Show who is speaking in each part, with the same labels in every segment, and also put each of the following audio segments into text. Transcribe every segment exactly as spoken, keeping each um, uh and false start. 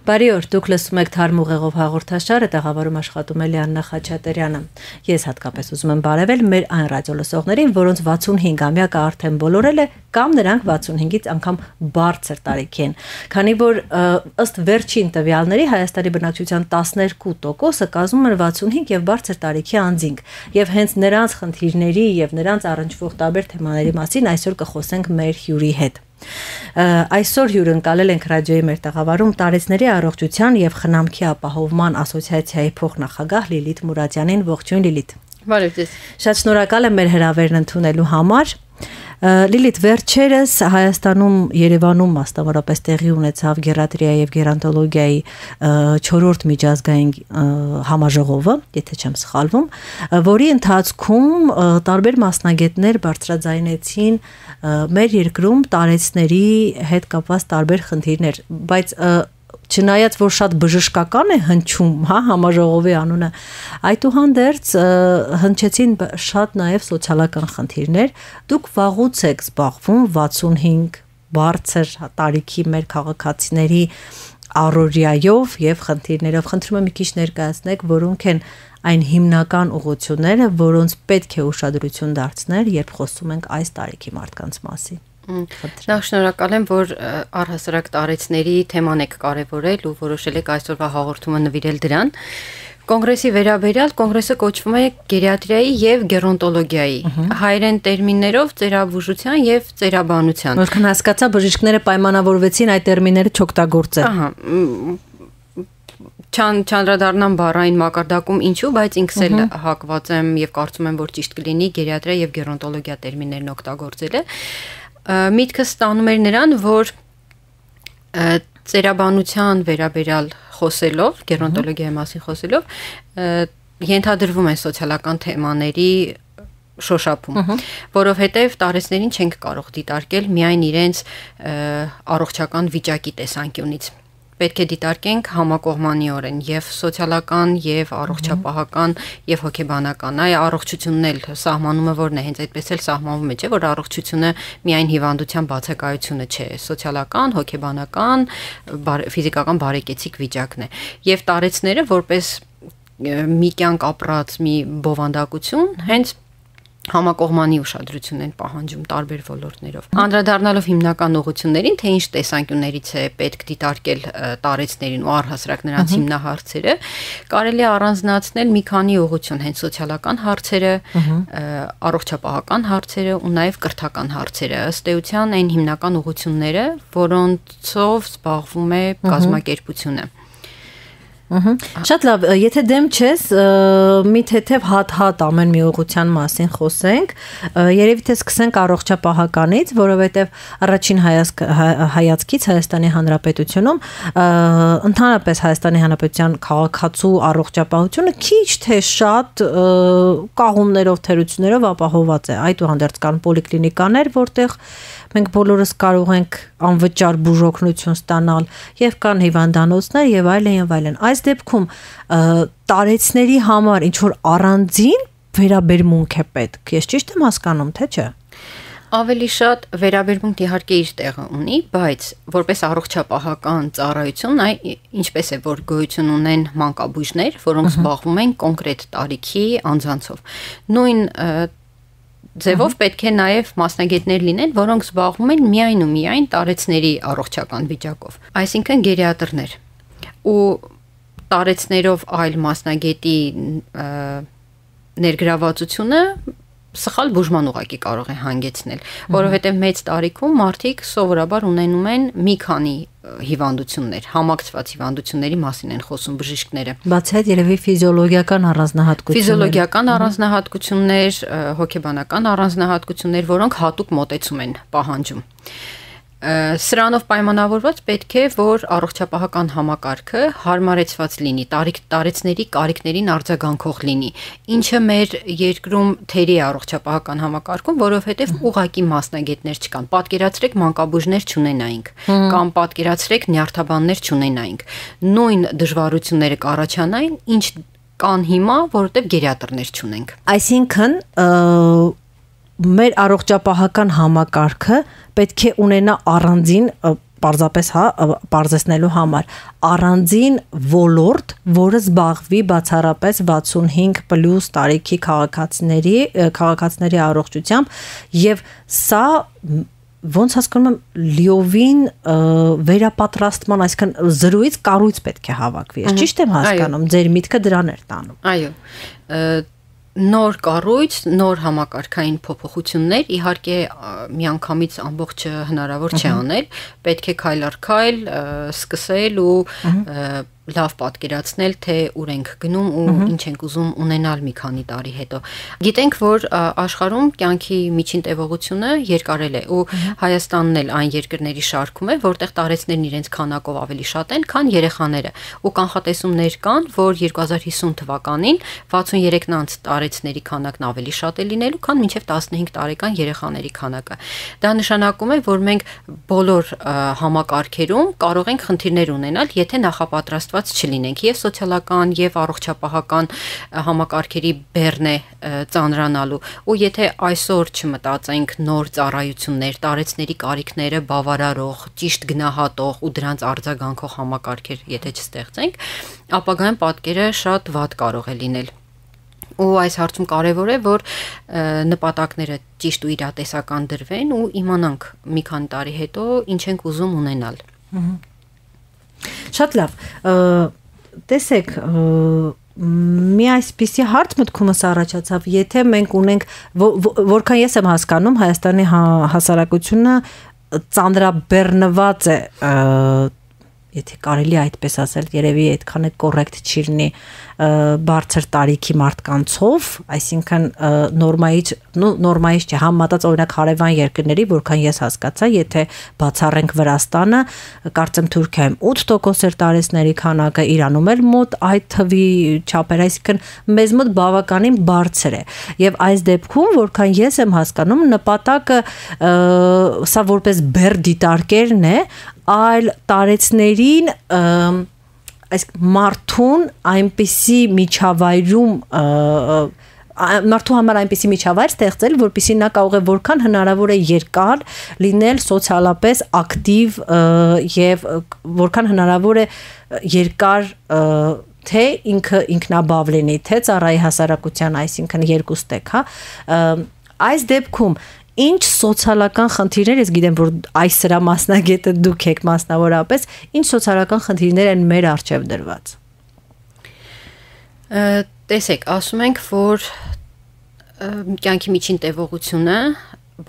Speaker 1: Բարի օր, դուք լսում եք Թարմ ուղեղով հաղորդաշարը, տաղավարում աշխատում է Լիաննա Խաչատրյանը։ Ես հատկապես ուզում եմ բարևել մեր այն ռադիոլսողներին, որոնց վաթսունհինգամյակը արդեն բոլորել է, կամ նրանք վաթսունհինգից անգամ բարձր տարիքի են։ Քանի որ ըստ վերջին տվյալների Հայաստանի բնակչության տասներկու տոկոսը կազմում են վաթսունհինգ եւ բարձր տարիքի անձինք, եւ հենց նրանց խնդիրների եւ նրանց առնչվող տարբեր թեմաների մասին այսօր կխոսենք մեր հյուրի հետ։ Այսօր հյուրընկալել ենք ռադիոյի մեր տաղավարում տարեցների առողջության եւ խնամքի ապահովման ասոցիացիայի փոխնախագահ Լիլիթ Մուրադյանին։ Ողջույն Լիլիթ։
Speaker 2: Բարև ձեզ։
Speaker 1: Շատ շնորհակալ եմ մեր հրավերն ընդունելու համար։ Լիլիթ, վերջերս Հայաստանում Երևանում մասնավորապես տեղի ունեցավ գերատրիայի եւ գերանտոլոգիայի չորրորդ միջազգային համաժողովը, եթե չեմ սխալվում, որի ընթացքում տարբեր մասնագետներ բարձրաձայնեցին մեր երկրում տարեցների հետ կապված տարբեր խնդիրներ, բայց չնայած որ շատ բժշկական է հնչում, հա, համաժողովի անունը, այդուհանդերձ հնչեցին շատ նաև սոցիալական խնդիրներ։ Դուք վաղուց եք զբաղվում վաթսունհինգ բարձր տարիքի մեր քաղաքացիների առօրյայով եւ խնդիրներով։ Խնդրում եմ մի քիչ ներկայացնեք, որոնք են այն հիմնական ուղղությունները, որոնց պետք է ուշադրություն դարձնել, երբ խոսում ենք այս տարիքի մարդկանց մասին։
Speaker 2: Նախ շնորհակալ եմ, որ առհասարակ տարեցների թեման եք կարևորել ու որոշել եք այսօրվա հաղորդումը նվիրել դրան։ Կոնգրեսի վերաբերյալ կոնգրեսը կոչվում է գերիատրիայի եւ գերոնտոլոգիայի, հայերեն տերմիններով ծերաբուժության եւ ծերաբանության։
Speaker 1: Որքան հասկացա, բժիշկները պայմանավորվեցին այդ տերմինները չօգտագործել։
Speaker 2: Ահա, Չան չանդրադառնամ բառային մակարդակում ինչու, բայց ինքս էլ հակված եմ եւ կարծում եմ, որ ճիշտ կլինի գերիատրիա եւ գերոնտոլոգիա տերմիններն օգտագործելը։ Միտքս ստանում էր նրան, որ ծերաբանության վերաբերյալ խոսելով, գերոնտոլոգիայի մասին խոսելով, ենթադրվում են սոցիալական թեմաների շոշափում, որովհետև տարեցներին չենք կարող դիտարկել միայն իրենց առողջական վիճակի տեսանկյունից։ Պետք է դիտարկենք համակողմանիորեն եւ սոցիալական եւ առողջապահական եւ հոգեբանական։ Այ առողջությունն էլ սահմանումը որն է, հենց այդպես էլ սահմանվում է, չէ՞, որ առողջությունը միայն հիվանդության բացակայությունը չէ, սոցիալական, հոգեբանական, ֆիզիկական բարեկեցիկ վիճակն է։ Եվ տարեցները որպես մի կյանք ապրած մի բովանդակություն հենց համակողմանի ուշադրություն են պահանջում տարբեր ոլորտներով։ Անդրադառնալով հիմնական ուղղություններին, թե ինչ տեսանկյուններից է պետք դիտարկել տարեցներին ու առհասարակ նրանց հիմնահարցերը, կարելի է առանձնացնել մի քանի ուղղություն, հենց սոցիալական հարցերը, առողջապահական հարցերը ու նաև կրթական հարցերը։ Ըստ էության այն հիմնական ուղղությունները, որոնցով զբաղվում է կազմակերպությունը։
Speaker 1: Շատ լավ, եթե դեմ չես, մի թեթև հատ-հատ ամեն մի ուղղության մասին խոսենք, երևի թե սկսենք առողջապահականից, որովհետև առաջին հայացքից Հայաստանի Հանրապետությունում, ընդհանրապես Հայաստանի Հանրապետության քաղաքացու առողջապահությունը քիչ թե շատ կաղումներով, թերություններով ապահոված է, այդուհանդերձ կան պոլիկլինիկաներ, որտեղ մենք բոլորս կարող ենք անվճար բուժօգնություն ստանալ եւ կան հիվանդանոցներ եւ այլն եւ այլն։ Այս դեպքում տարեցների համար ինչ որ առանձին վերաբերմունք է պետք։ Ես ճիշտ եմ հասկանում, թե չէ։
Speaker 2: Ավելի շատ վերաբերմունք իհարկե իր տեղը ունի, բայց որպես առողջապահական ծառայություն, այ ինչպես է որ գոյություն ունեն մանկաբույժներ, որոնք զբաղվում են կոնկրետ տարիքի անձանցով։ Նույն ձևով պետք է նաև մասնագետներ լինեն, որոնք զբաղվում են միայն ու միայն տարեցների առողջական վիճակով, այսինքն գերիատրներ։ Ու տարեցներով այլ մասնագետի ներգրավվածությունը սխալ բուժման ուղղակի կարող է հանգեցնել, որովհետև մեծ տարիքում մարդիկ սովորաբար ունենում են մի քանի հիվանդություններ, համակցված հիվանդությունների մասին են խոսում բժիշկները։
Speaker 1: Բացի այդ երևի ֆիզիոլոգիական առանձնահատկություններ։
Speaker 2: Ֆիզիոլոգիական առանձնահատկություններ, հոգեբանական առանձնահատկություններ, որոնք հատուկ մոտեցում են պահանջում։ Սրանով պայմանավորված պետք է, որ առողջապահական համակարգը հարմարեցված լինի, տարեցների կարիքներին արձագանքող լինի, ինչը մեր երկրում թերի առողջապահական համակարգում, որովհետև ուղղակի մասնագետներ չկան։ Պատկերացրեք մանկաբույժներ չունենայինք, կամ պատկերացրեք նյարդաբաններ չունենայինք։ Նույն դժվարությունները կառաջանային, ինչ կան հիմա, որովհետև գերիատրներ չունենք։
Speaker 1: Այսինքն մեր առողջապահական համակարգը պետք է ունենա առանձին պարզապես հա պարզեցնելու համար առանձին ոլորտ, որը զբաղվի բացառապես վաթսունհինգ պլյուս տարիքի քաղաքացիների քաղաքացիների առողջությամբ եւ սա ոնց հասկանում եմ լիովին վերապատրաստման, այսինքն զրույց կառույց պետք է հավաքվի։ Ես ճիշտ եմ հասկանում, ձեր միտքը դրան էր տանում։
Speaker 2: Այո։ Նոր կառույց, նոր համակարգային փոփոխություններ, իհարկե միանգամից ամբողջը հնարավոր չէ անել, պետք է քայլ առ քայլ սկսել ու լավ պատկերացնել, թե ուր ենք գնում ու ինչ ենք ուզում ունենալ մի քանի տարի հետո։ Գիտենք, որ աշխարհում կյանքի միջին տևողությունը երկարել է ու Հայաստանն էլ այն երկրների շարքում է, որտեղ տարեցներն իրենց քանակով ավելի շատ են, քան երեխաները։ Ու կանխատեսումներ կան, որ երկու հազար հիսուն թվականին վաթսուներեքնանց տարեցների քանակն ավելի շատ է լինելու, քան մինչև տասնհինգ տարեկան երեխաների քանակը։ Դա նշանակում է, որ մենք բոլոր համակարգերում կարող ենք խնդիրներ ունենալ, եթե նախապատրաստված չլինենք եւ սոցիալական եւ առողջապահական համակարգերի բեռն է ծանրանալու ու եթե այսօր չմտածենք նոր ծառայություններ, տարեցների կարիքները բավարարող, ճիշտ գնահատող ու դրանց արձագանքող համակարգեր եթե չստեղծենք, ապագայում պատկերը շատ վատ կարող է լինել։ Ու այս հարցում կարևոր է, որ նպատակները ճիշտ ու իրատեսական դրվեն ու իմանանք մի քանի տարի հետո ինչ ենք ուզում ունենալ։
Speaker 1: Շատ լավ, տեսեք, մի այսպիսի հարց մտքումս առաջացավ, եթե մենք ունենք, որքան ես եմ հասկանում, Հայաստանի հասարակությունը ծանրաբեռնված է, եթե կարելի այդպես ասել, երևի այդքան է կոռեկտ չի լինի բարձր տարիքի մարդկանցով, այսինքն նորմայից, նորմայից չէ, համեմատած օրինակ հարևան երկրների, որքան ես հասկացա, եթե բացառենք Վրաստանը, կարծեմ Թուրքիայում ութ տոկոս էր տարեցների քանակը, Իրանում էլ մոտ այդ թվի չափեր, այսինքն մեզ մոտ բավականին բարձր է։ Եվ այս դեպքում, որքան ես եմ հասկանում, նպատակը սա որպես բեռ դիտարկելն է, այլ տարեցներին այս մարդուն այնպիսի միջավայրում մարդու համար այնպիսի միջավայր ստեղծել, որպեսզի նա կարող է որքան հնարավոր է երկար լինել սոցիալապես ակտիվ եւ որքան հնարավոր է երկար թե ինքը ինքնաբավ լինի, թե ծառայի հասարակության, այսինքն երկու ստեկ, հա, այս դեպքում ինչ սոցիալական խնդիրներ, ես գիտեմ, որ այս սրա մասնագետը դուք եք մասնավորապես, ինչ սոցիալական խնդիրներ են մեր առջև դրված։
Speaker 2: Տեսեք, ասում ենք, որ կյանքի միջին տևողությունը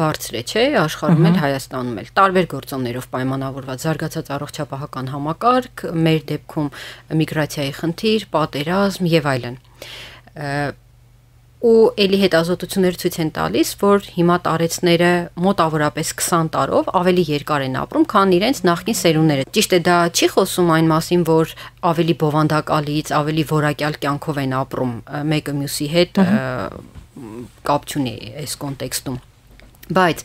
Speaker 2: բարձր է, չէ, աշխարհում էլ Հայաստանում էլ տարբեր գործոններով պայմանավորված զարգացած առողջապահական համակարգ, մեր դեպքում միգրացիայի խնդիր, պատերազմ եւ այլն։ Ու էլի հետազոտություններ ցույց են տալիս, որ հիմա տարեցները մոտավորապես քսան տարով ավելի երկար են ապրում, քան իրենց նախկին սերունդները։ Ճիշտ է, դա չի խոսում այն մասին, որ ավելի բովանդակալից, ավելի որակյալ կյանքով են ապրում մեկը մյուսի հետ, կապ չունի այս կոնտեքստում։ Բայց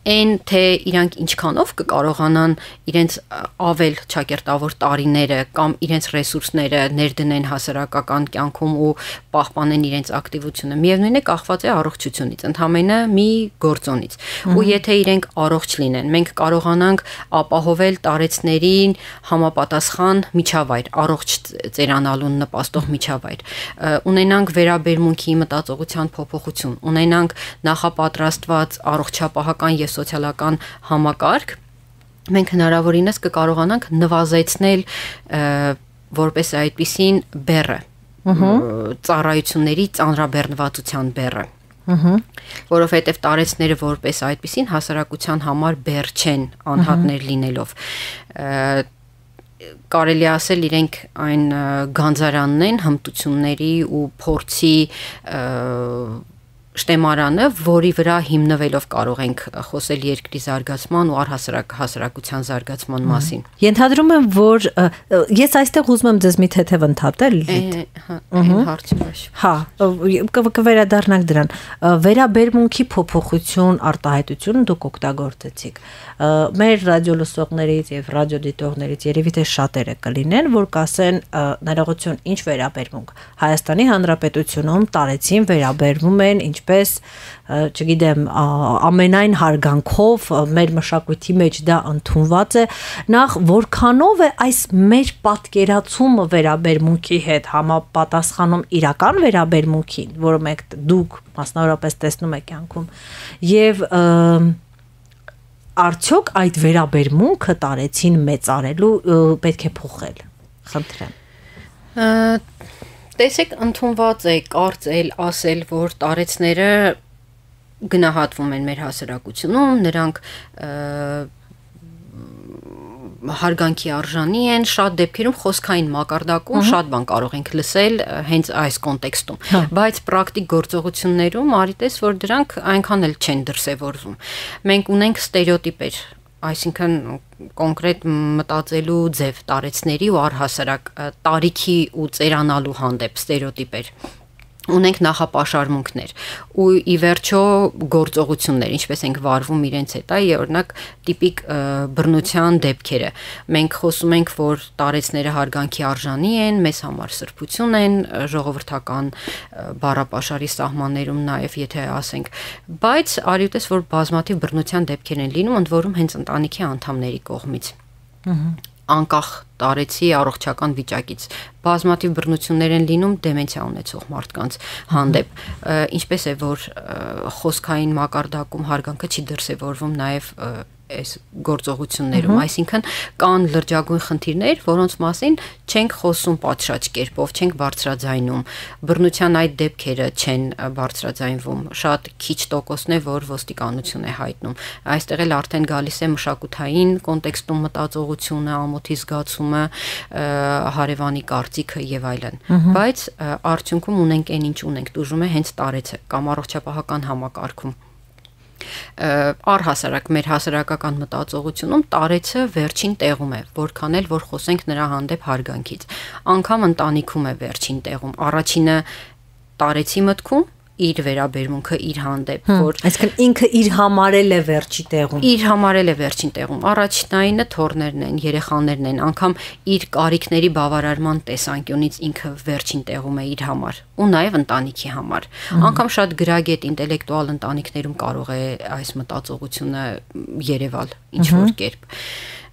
Speaker 2: այն թե իրանք ինչքանով կկարողանան իրենց ավել ճակերտավոր տարիները կամ իրենց ռեսուրսները ներդնեն հասարակական կյանքում ու պահպանեն իրենց ակտիվությունը, միևնույն է կախված է առողջությունից, ընդհանրապես մի գործոնից։ Ու եթե իրենք առողջ լինեն, մենք կարողանանք ապահովել տարեցներին համապատասխան միջավայր, առողջ ծերանալուն նպաստող միջավայր, ունենանք վերաբերմունքի մտածողության փոփոխություն, ունենանք նախապատրաստված առողջ Չափահական եւ սոցիալական համակարգ, մենք հնարավորինս կկարողանանք նվազեցնել որպես այդպիսին բեռը, ծառայությունների ծանրաբեռնվածության բեռը, որովհետեւ տարեցները որպես այդպիսին հասարակության համար բեռ չեն անհատներ լինելով։ Կարելի ասել իրենք այն գանձարանն են հմտությունների ու փորձի շտեմարանը, որի վրա հիմնվելով կարող ենք խոսել երկրի զարգացման ու առհասարակ հասարակության զարգացման մասին։
Speaker 1: Ենթադրում եմ, որ ես այստեղ ուզում եմ ձեզ մի թեթև ընդհատել,
Speaker 2: այն հարցի մեջ։
Speaker 1: Հա, կվերադառնանք դրան։ Վերաբերմունքի փոփոխություն, արտահայտություն դուք օգտագործեցիք։ Մեր ռադիո լսողներից եւ ռադիոդիտողներից երևի թե շատերը կլինեն, որ կասեն ներողություն, ինչ վերաբերմունք։ Հայաստանի Հանրապետությունում տարեցին վերաբերվում են ինչպես որպես, չգիտեմ, ամենայն հարգանքով մեր մշակույթի մեջ դա ընդունված է, նախ որքանով է այս մեր պատկերացումը վերաբերմունքի հետ համապատասխանում իրական վերաբերմունքին, որը մենք դուք մասնավորապես տեսնում եք կյանքում, եւ արդյոք այդ վերաբերմունքը տարեցին մեծարելու պետք է փոխել, խնդրեմ։
Speaker 2: Տեսեք, ընդունված է կարծել, ասել, որ տարեցները գնահատվում են մեր հասարակությունում, նրանք հարգանքի արժանի են, շատ դեպքերում խոսքային մակարդակում շատ բան կարող ենք լսել հենց այս կոնտեքստում, բայց պրակտիկ գործողություններում արիտես, որ դրանք այնքան էլ չեն դրսևորվում։ Մենք ունենք ստերեոտիպեր, այսինքն կոնկրետ մտածելու ձև տարեցների ու առհասարակ տարիքի ու ծերանալու հանդեպ ստերեոտիպեր ունենք նախապաշարմունքներ ու ի վերջո գործողություններ, ինչպես ենք վարվում իրենց հետ, այ օրինակ տիպիկ բռնության դեպքերը։ Մենք խոսում ենք, որ տարեցները հարգանքի արժանի են, մեզ համար սրբություն են, ժողովրդական բառապաշարի սահմաններում նաև եթե ասենք, բայց արիուտես, որ բազմաթիվ բռնության դեպքեր են լինում, ընդ որում հենց ընտանիքի անդամների կողմից։ Անկախ տարեցի առողջական վիճակից բազմաթիվ բռնություններ են լինում դեմենցիա ունեցող մարդկանց հանդեպ, ինչպես է որ խոսքային մակարդակում հարգանքը չի դրսևորվում նաև այս գործողություններում, այսինքն կան լրջագույն խնդիրներ, որոնց մասին չենք խոսում պատշաճ կերպով, չենք բարձրաձայնում, բռնության այդ դեպքերը չեն բարձրաձայնվում, շատ քիչ տոկոսն է, որ ոստիկանություն է հայտնում։ Այստեղ էլ արդեն գալիս է մշակութային կոնտեքստում մտածողությունը, ամոթի զգացումը, հարևանի կարծիքը եւ այլն։ Բայց արդյունքում ունենք այն ինչ ունենք, դժում է հենց տարեցը կամ առողջապահական համակարգում։ Առհասարակ մեր հասարակական մտածողությունում տարեցը վերջին տեղում է, որքան էլ որ խոսենք նրա հանդեպ հարգանքից։ Անկամ ընտանիքում է վերջին տեղում։ Առաջինը տարեցի մտքում իր վերաբերմունքը իր հանդեպ, որ
Speaker 1: այսինքն ինքը իր համարել է վերջի տեղում։
Speaker 2: Իր համարել է վերջին տեղում։ Առաջնայինը թորներն են, երեխաներն են, անգամ իր կարիքների բավարարման տեսանկյունից ինքը վերջին տեղում է իր համար ու նաև ընտանիքի համար։ Անգամ շատ գրագետ ինտելեկտուալ ընտանիքներում կարող է այս մտածողությունը երևալ ինչ որ կերպ։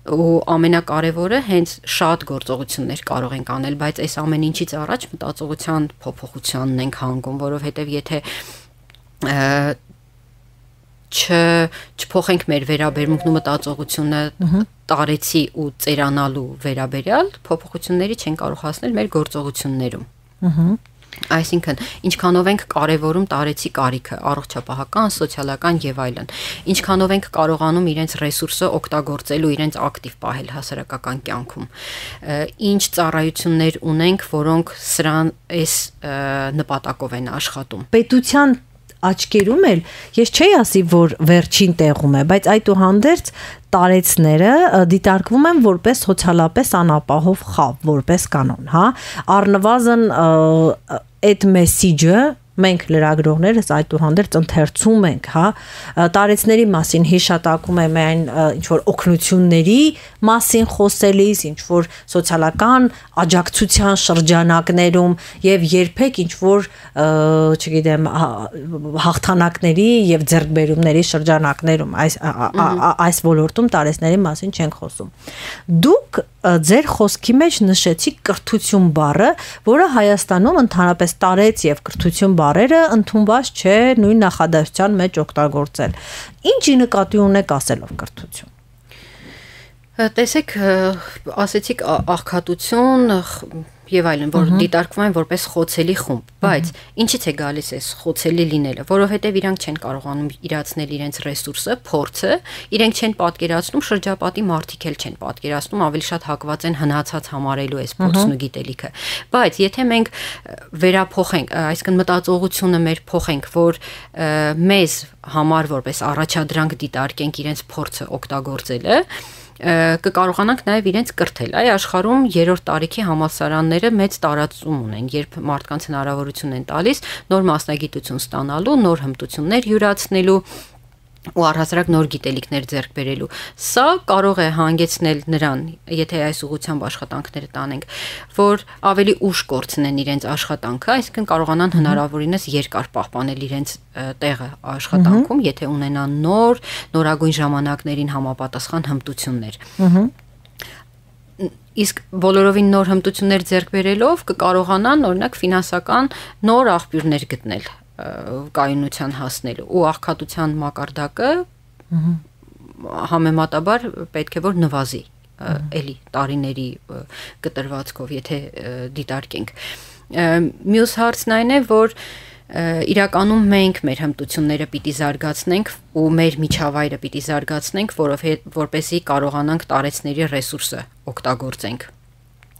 Speaker 2: Ու ամենակարևորը հենց շատ գործողություններ կարող ենք անել, բայց այս ամեն ինչից առաջ մտածողության փոփոխությանն ենք հանգում, որովհետև եթե չփոխենք մեր վերաբերմունքն ու մտածողությունը տարեցի ու ծերանալու վերաբերյալ, փոփոխությունների չեն կարող հասնել մեր գործողություններում։ Այսինքն, ինչքանով ենք կարևորում տարեցի կարիքը, առողջապահական, սոցիալական եւ այլն, ինչքանով ենք կարողանում իրենց ռեսուրսը օգտագործել ու իրենց ակտիվ պահել հասարակական կյանքում, ինչ ծառայություններ ունենք, որոնք սրան այս նպատակով են աշխատում։
Speaker 1: Պետության աչքերում էլ ես չէի ասի, որ վերջին տեղում է, բայց այդուհանդերձ տարեցները դիտարկվում են որպես սոցիալապես անապահով խավ, որպես կանոն, հա, առնվազն այդ մեսիջը մենք լրագրողներս այդուհանդերձ ընթերցում ենք, հա, տարեցների մասին հիշատակում է միայն ինչ որ օգնությունների մասին խոսելիս, ինչ որ սոցիալական աջակցության շրջանակներում եւ երբեք ինչ որ, չգիտեմ, հաղթանակների եւ ձեռքբերումների շրջանակներում այս այս ոլորտում տարեցների մասին չենք խոսում։ Դուք ձեր խոսքի մեջ նշեցիք կրթություն բառը, որը Հայաստանում ընդհանրապես տարեց եւ կրթություն բառերը ընդունված չէ նույն նախադասության մեջ օգտագործել։ Ինչի նկատի ունեք ասելով կրթություն։
Speaker 2: Տեսեք, ասեցիք աղքատություն եւ այլն, որ դիտարկվում են որպես խոցելի խումբ, բայց ինչից է գալիս այս խոցելի լինելը, որովհետեւ իրանք չեն կարողանում իրացնել իրենց ռեսուրսը, փորձը, իրենք չեն պատկերացնում շրջապատի մարդիկ էլ չեն պատկերացնում, ավելի շատ հակված են հնացած համարելու այս փորձն ու գիտելիքը։ Բայց եթե մենք վերափոխենք, այսինքն մտածողությունը մեր փոխենք, որ մեզ համար որպես առաջադրանք դիտարկենք իրենց փորձը օգտագործելը, կկարողանանք նաև իրենց կրթել։ Այ աշխարհում երրորդ տարիքի համալսարանները մեծ տարածում ունեն, երբ մարդկանց հնարավորություն են տալիս նոր մասնագիտություն ստանալու, նոր հմտություններ յուրացնելու, ու առհասարակ նոր գիտելիքներ ձեռք բերելու։ Սա կարող է հանգեցնել նրան, եթե այս ուղղությամբ աշխատանքները տանենք, որ ավելի ուշ կորցնեն իրենց աշխատանքը, այսինքն կարողանան հնարավորինս երկար պահպանել իրենց տեղը աշխատանքում, եթե ունենան նոր, նորագույն ժամանակներին համապատասխան հմտություններ։ Իսկ բոլորովին նոր հմտություններ ձեռք բերելով կկարողանան օրինակ ֆինանսական նոր աղբյուրներ գտնել կայունության հասնելու ու աղքատության մակարդակը համեմատաբար պետք է որ նվազի էլի տարիների կտրվածքով, եթե դիտարկենք։ Մյուս հարցն այն է, որ իրականում մենք մեր հմտությունները պիտի զարգացնենք ու մեր միջավայրը պիտի զարգացնենք, որովհետեւ կարողանանք տարեցների ռեսուրսը օգտագործենք։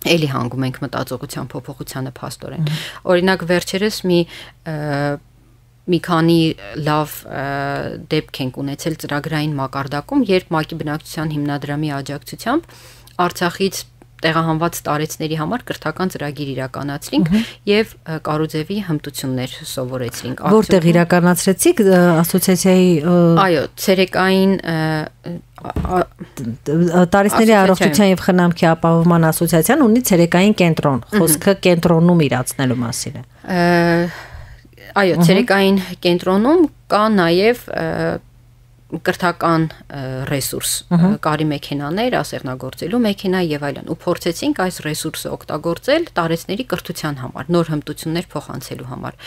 Speaker 2: Էլի հանգում ենք մտածողության փոփոխությանը փաստորեն։ Օրինակ վերջերս մի մի քանի լավ դեպք ենք ունեցել ծրագրային մակարդակում, երբ ՄԱԿ-ի բնակչության հիմնադրամի աջակցությամբ Արցախից տեղահանված տարեցների համար կրթական ծրագիր իրականացրինք եւ Կարուձևի հմտություններ սովորեցրինք։
Speaker 1: Որտեղ իրականացրեցիք ասոցիացիայի
Speaker 2: Այո, ցերեկային
Speaker 1: Տարեցների առողջության եւ խնամքի ապահովման ասոցիացիան ունի ցերեկային կենտրոն, խոսքը կենտրոնում իրացնելու մասին է։
Speaker 2: Այո, ցերեկային կենտրոնում կա նաեւ կրթական ռեսուրս, կարի մեքենաներ, ասեղնագործելու մեքենա եւ այլն, ու փորձեցինք այս ռեսուրսը օգտագործել տարեցների կրթության համար, նոր հմտություններ փոխանցելու համար։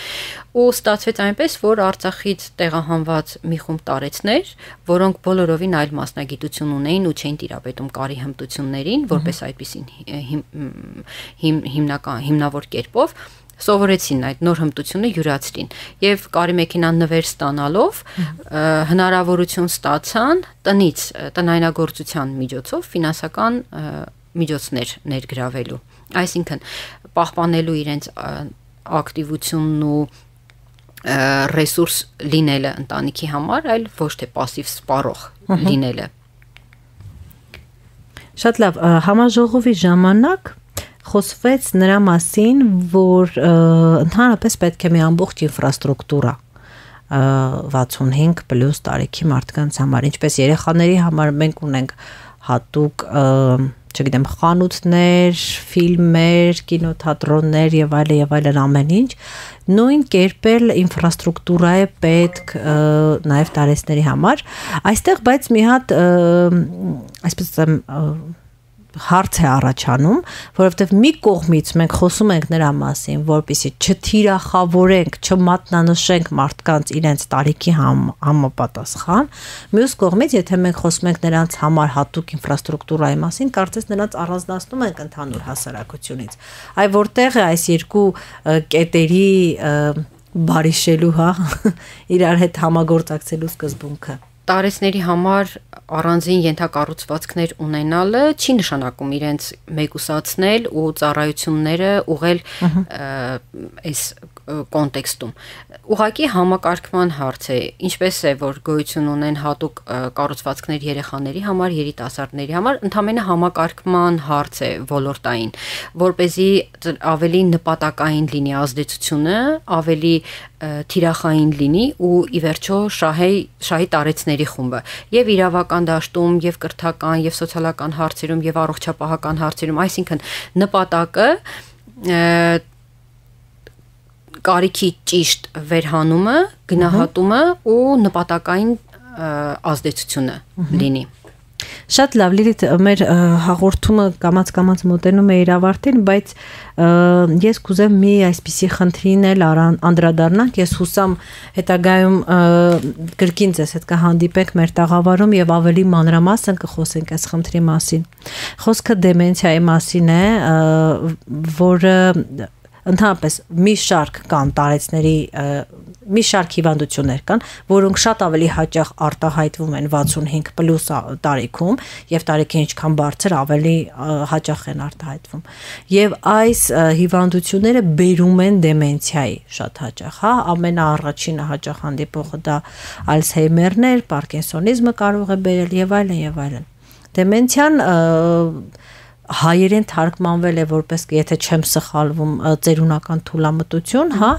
Speaker 2: Ու ստացվեց այնպես, որ Արցախից տեղահանված մի խումբ տարեցներ, որոնք բոլորովին այլ մասնագիտություն ունեին ու չէին տիրապետում կարի հմտություններին, որպես այդպիսին հիմնական հիմնավոր կերպով սովորեցին այդ նոր հմտությունը յուրացրին եւ կարի մեքենան նվեր ստանալով հնարավորություն ստացան տնից տնայնագործության միջոցով ֆինանսական միջոցներ ներգրավելու, այսինքն պահպանելու իրենց ակտիվությունն ու ռեսուրս լինելը ընտանիքի համար, այլ ոչ թե пассив սպառող լինելը։
Speaker 1: Շատ լավ, համաժողովի ժամանակ խոսվեց նրա մասին, որ ընդհանրապես պետք է մի ամբողջ ինֆրաստրուկտուրա վաթսունհինգ պլյուս տարիքի մարդկանց համար, ինչպես երեխաների համար մենք ունենք հատուկ, չգիտեմ, խանութներ, ֆիլմեր, կինոթատրոններ եւ այլն եւ այլն ամեն ինչ, նույն կերպ էլ ինֆրաստրուկտուրա է պետք նաեւ տարեցների համար, այստեղ բայց մի հատ այսպես ասեմ հարց է առաջանում, որովհետև մի կողմից մենք խոսում ենք նրա մասին, որպեսզի չթիրախավորենք, չմատնանշենք մարդկանց իրենց տարիքի համապատասխան, մյուս կողմից, եթե մենք խոսում ենք նրանց համար հատուկ ինֆրաստրուկտուրայի մասին, կարծես նրանց առանձնացնում ենք ընդհանուր հասարակությունից։ Այ որտեղ է այս երկու կետերի բարիշելու, հա, իրար հետ համագործակցելու սկզբունքը։
Speaker 2: Տարեցների համար առանձին ենթակառուցվածքներ ունենալը չի նշանակում իրենց մեկուսացնել ու ծառայությունները ուղղել այս կոնտեքստում։ Ուղղակի համակարգման հարց է, ինչպես է, որ գոյություն ունեն հատուկ կառուցվածքներ երեխաների համար, երիտասարդների համար, ընդհանրապես համակարգման հարց է ոլորտային, որպեսզի ավելի նպատակային լինի ազդեցությունը, ավելի թիրախային լինի ու ի վերջո շահի շահի տարեցների խումբը եւ իրավական դաշտում եւ կրթական եւ սոցիալական հարցերում եւ առողջապահական հարցերում, այսինքն նպատակը կարիքի ճիշտ վերհանումը, գնահատումը ու նպատակային ազդեցությունը լինի։
Speaker 1: Շատ լավ, Լիլիթ, մեր հաղորդումը կամաց-կամաց մոտենում է իր ավարտին, բայց ես կուզեմ մի այսպիսի խնդրին էլ անդրադառնանք, ես հուսամ հետագայում կրկին ձեզ հետ կհանդիպենք մեր տաղավարում եւ ավելի մանրամասն կխոսենք այս խնդրի մասին։ Խոսքը դեմենցիայի մասին է, որը ընդհանրապես մի շարք կան տարեցների մի շարք հիվանդություններ կան, որոնք շատ ավելի հաճախ արտահայտվում են վաթսունհինգ պլյուս տարիքում եւ տարիքը ինչքան բարձր ավելի հաճախ են արտահայտվում։ Եվ այս հիվանդությունները բերում են դեմենցիայի շատ հաճախ, հա, ամենաառաջինը հաճախ հանդիպողը դա Ալցհեյմերն է, Պարկինսոնիզմը կարող է բերել եւ այլն եւ այլն։ Դեմենցիան հայերեն թարգմանվել է որպես, եթե չեմ սխալվում, ծերունական թուլամտություն, հա,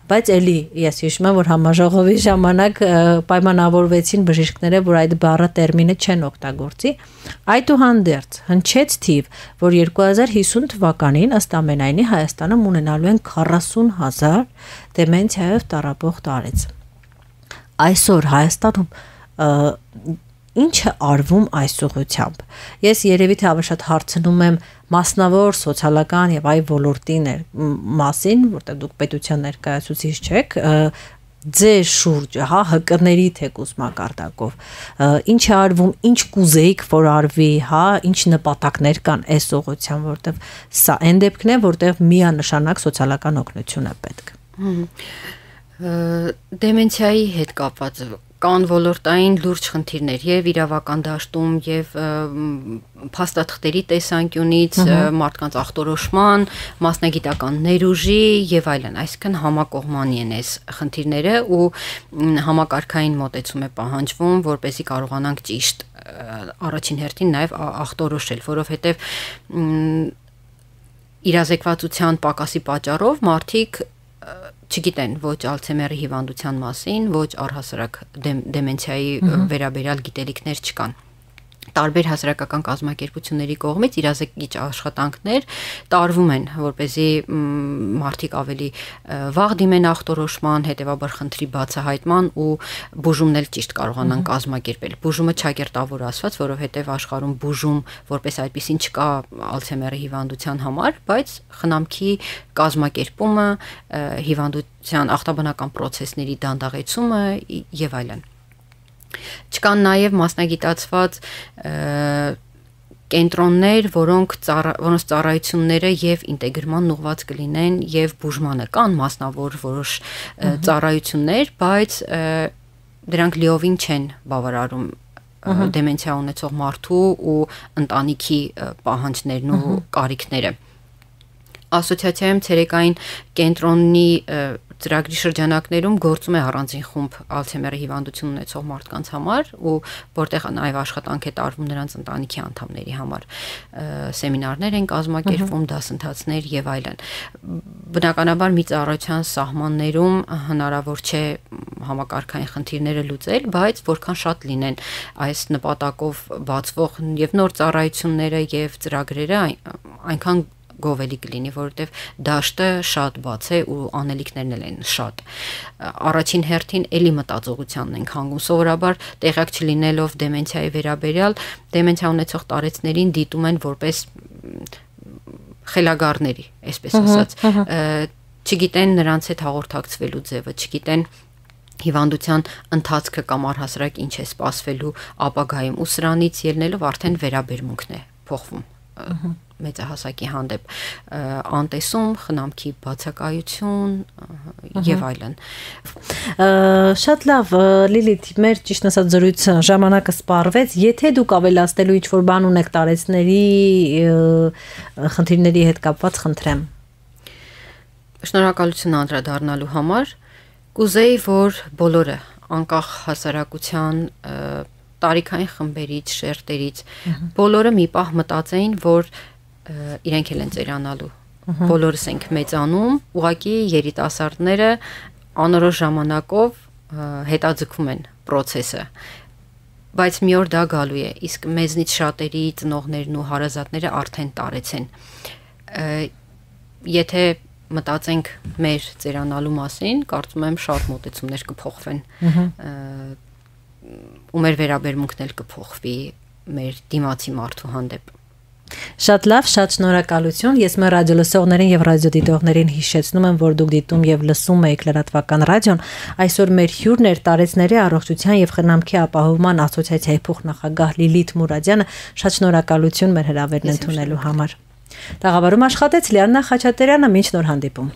Speaker 1: բայց էլի ես հիշում եմ, որ համաժողովի ժամանակ պայմանավորվեցին բժիշկները, որ այդ բառը տերմինը չեն օգտագործի, այդուհանդերձ հնչեց թիվ, որ երկու հազար հիսուն թվականին ըստ ամենայնի Հայաստանում ունենալու են քառասուն հազար դեմենցիայով տառապող տարեց։ Այսօր Հայաստանում ինչ է արվում այս ուղղությամբ։ Ես երևի թե ավելի շատ հարցնում եմ մասնավոր սոցիալական եւ այլ ոլորտի մասին, որտեղ դուք պետության ներկայացուցիչ չեք, ձեր շուրջը, հա, հկների թեկուզ մակարդակով, ինչ է արվում, ինչ կուզեիք, որ արվի, հա, ինչ նպատակներ կան այս ուղղությամբ, որտեղ սա այն դեպքն է, որտեղ միանշանակ սոցիալական օգնություն է պետք։
Speaker 2: Դեմենցիայի հետ կապված կան ոլորտային լուրջ խնդիրներ եւ իրավական դաշտում եւ փաստաթղթերի տեսանկյունից, մարդկանց ախտորոշման, մասնագիտական ներուժի եւ այլն, այսինքն համակողմանի են այս խնդիրները ու համակարգային մոտեցում է պահանջվում, որպեսզի կարողանանք ճիշտ առաջին հերթին նաեւ ախտորոշել, որովհետեւ իրազեկվածության պակասի պատճառով մարդիկ չգիտեն ոչ Ալցհեյմերի հիվանդության մասին, ոչ առհասարակ դեմենցիայի վերաբերյալ գիտելիքներ չկան։ Տարբեր հասարակական կազմակերպությունների կողմից իրազեկիչ աշխատանքներ տարվում են, որպեսզի մարդիկ ավելի վաղ դիմեն ախտորոշման, հետևաբար խնդրի բացահայտման ու բուժումն էլ ճիշտ կարողանան կազմակերպել։ Բուժումը չակերտավոր ասված, որովհետև աշխարհում բուժում որպես այդպեսին չկա Ալցհեյմերի հիվանդության համար, բայց խնամքի կազմակերպումը, հիվանդության ախտաբանական process-ների դանդաղեցումը եւ այլն։ Չկան նաև մասնագիտացված կենտրոններ, որոնք որոնց ծառայությունները եւ ինտեգրման ուղղված կլինեն եւ բուժմանը կան մասնավոր որոշ ծառայություններ, բայց դրանք լիովին չեն բավարարում դեմենցիա ունեցող մարդու ու ընտանիքի պահանջներն ու կարիքները։ Ասոցիացիայում ցերեկային կենտրոնի ծրագրի շրջանակներում գործում է առանձին խումբ Ալցհեյմերի հիվանդություն ունեցող մարդկանց համար ու որտեղ նաև աշխատանք է տարվում նրանց ընտանիքի անդամների համար, սեմինարներ են կազմակերպվում, դասընթացներ եւ այլն։ Բնականաբար մի ծառայության սահմաններում հնարավոր չէ համակարգային խնդիրները լուծել, բայց որքան շատ լինեն այս նպատակով բացվող եւ նոր ծառայությունները եւ ծրագրերը, այնքան գովելի կլինի, որովհետև դաշտը շատ բաց է ու անելիքներն էլ են շատ։ Առաջին հերթին էլի մտածողությանն ենք հանգում, սովորաբար տեղյակ չլինելով դեմենցիայի վերաբերյալ, դեմենցիա ունեցող տարեցներին դիտում են որպես խելագարների, այսպես ասած, չգիտեն նրանց հետ հաղորդակցվելու ձևը, չգիտեն հիվանդության ընթացքը կամ առհասարակ ինչ է սպասվելու ապագայում ու սրանից ելնելով արդեն վերաբերմունքն է փոխվում մեծահասակի հանդեպ, անտեսում, խնամքի բացակայություն եւ այլն։
Speaker 1: Շատ լավ, Լիլիթ, մեր ճիշտ ասած զրույցը ժամանակը սպառվեց, եթե դուք ավելացնելու ինչ-որ բան ունեք տարեցների խնդիրների հետ կապված, խնդրեմ։
Speaker 2: Շնորհակալություն անդրադառնալու համար, կուզեի, որ բոլորը անկախ հասարակության տարիքային խմբերից, շերտերից, բոլորը մի պահ մտածեին, որ իրենք էլ են ծերանալու, բոլորս ենք մեծանում, ուղղակի երիտասարդները անորոշ ժամանակով հետաձգում են process-ը, բայց մի օր դա գալու է, իսկ մեզնից շատերի ծնողներն ու հարազատները արդեն տարեց են։ Եթե մտածենք մեր ծերանալու մասին, կարծում եմ շատ մոտեցումներ կփոխվեն ու մեր վերաբերմունքն էլ կփոխվի մեր դիմացի մարդու հանդեպ։
Speaker 1: Շատ լավ, շատ շնորհակալություն։ Ես մեր ռադիոլսողներին եւ ռադիոդիտողներին հիշեցնում եմ, որ դուք դիտում եւ լսում եք լրատվական ռադիոն։ Այսօր մեր հյուրն էր Տարեցների առողջության եւ խնամքի ապահովման ասոցիացիայի փոխնախագահ Լիլիթ Մուրադյանը։ Շատ շնորհակալություն մեր հրավերն ընդունելու համար։ Տաղավարում աշխատեց Լիաննա Խաչատրյանը, մինչ նոր հանդիպում։